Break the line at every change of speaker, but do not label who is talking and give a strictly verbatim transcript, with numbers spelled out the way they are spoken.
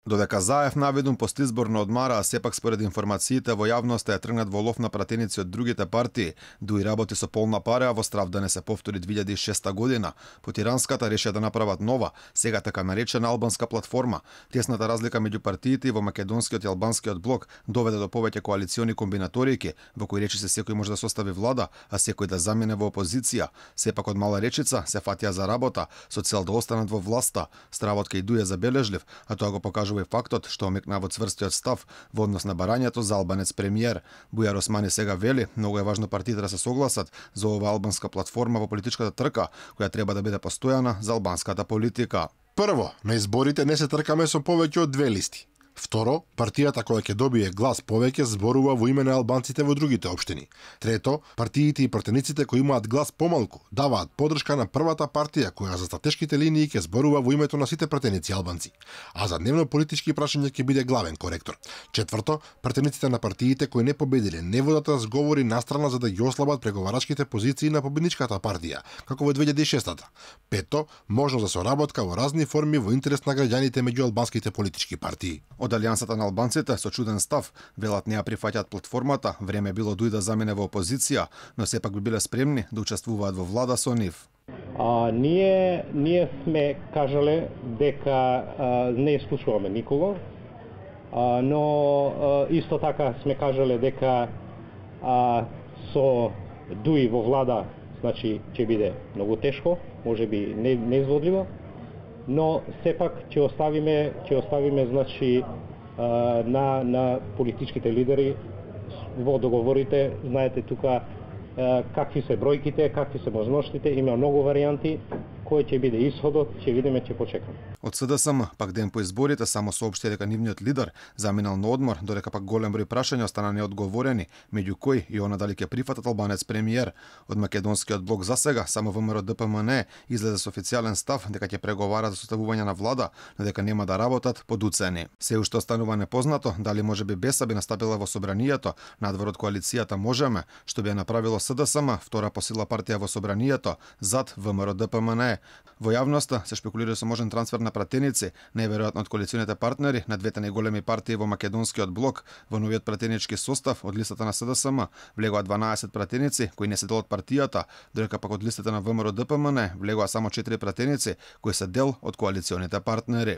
Додека Заев наведум постизборно одмара, а сепак според информациите во јавноста ја тргнат во лов на пратеници од другите партии, Дуи работи со полна пара, а во страв да не се повтори две илјади и шеста година. По Тиранската решија да направат нова, сега така наречена албанска платформа. Тесната разлика меѓу партиите во македонскиот и албанскиот блок доведе до повеќе коалициони комбинаторики, во кои речи се секој може да состави влада, а секој да замине во опозиција. Сепак од мала речица се фатија за работа, со цел да останат во власта. Стравот кај Дуи е забележлив, а тоа го покажува и фактот што омекна во цврстиот став во однос на барањето за албанец премиер. Бујар Османи сега вели, многу е важно партиите да се согласат за оваа албанска платформа во политичката трка, која треба да биде постојана за албанската политика.
Прво, на изборите не се тркаме со повеќе од две листи. Второ, партијата која ќе добие глас повеќе зборува во име на албанците во другите општини. Трето, партиите и пратениците кои имаат глас помалку даваат поддршка на првата партија која за стратешките линии ќе зборува во името на сите пратеници албанци, а за дневно политички прашања ќе биде главен коректор. Четврто, пратениците на партиите кои не победиле не водат разговори настрана за да ги ослабат преговарачките позиции на победничката партија, како во две илјади и шеста. Пето, можност за соработка во разни форми во интерес на граѓаните меѓу албанските политички партии.
Од Алијансата на албанците со чуден став велат не ја прифаќаат платформата, време било Дуи да замине во опозиција, но сепак би биле спремни да учествуваат во влада со нив.
А, ние ние сме кажале дека а, не исклучуваме никого, а, но а, исто така сме кажале дека а, со Дуи во влада, значи ќе биде многу тешко, можеби не неизводливо, но сепак ќе оставиме ќе оставиме значи на на политичките лидери во договорите. Знаете тука какви се бројките, какви се можностите, има многу варијанти. Кој ќе биде исходот, ќе видиме, ќе почекаме.
Од СДСМ, пак ден по изборите, само соопшти дека нивниот лидер заминал на одмор, додека пак голем број прашања остана неодговорени, меѓу кои и она дали ќе прифатат албанец премиер. Од македонскиот блок за сега, само ВМРО Д П М Н излезе со официјален став дека ќе преговара за составување на влада, но дека нема да работат под уцени. Се уште останува непознато дали можеби Беса би настапила во собранието надвор од коалицијата Можеме, што би ја направило СДСМ, втора по сила партија во собранието, зад ВМРО Д П М Н. Во јавноста се шпекулира со можен трансфер на пратеници, неверојатно од коалиционите партнери на двете најголеми партии во македонскиот блок. Во новиот пратенички состав од листата на СДСМ влегоа дванаесет пратеници кои не се дел од партијата, додека пак од листата на ВМРО Д П М Н влегоа само четири пратеници кои се дел од коалиционите партнери.